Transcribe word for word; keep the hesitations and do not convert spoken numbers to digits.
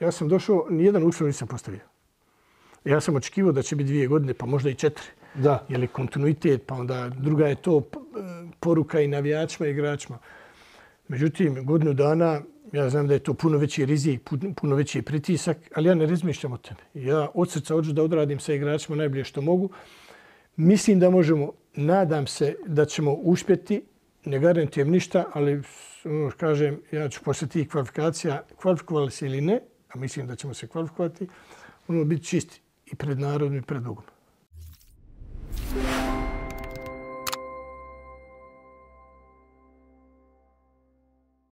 Ja sam došao, nijedan uslov nisam postavio. Ja sam očekivao da će biti dvije godine, pa možda i četiri. Da. Je li kontinuitet, pa onda druga je to poruka i navijačima i igračima. Međutim, godinu dana, ja znam da je to puno veći rizik, puno veći pritisak, ali ja ne razmišljam o tome. Ja od srca hoću da odradim sa igračima najbolje što mogu. Mislim da možemo, nadam se da ćemo uspjeti, ne garantujem ništa, ali kažem, ja ću posle tih kvalifikacija, kvalifikovali se ili ne, a mislim da ćemo se kvalifikovati, ono biti čisti i pred narodom i pred Bogom.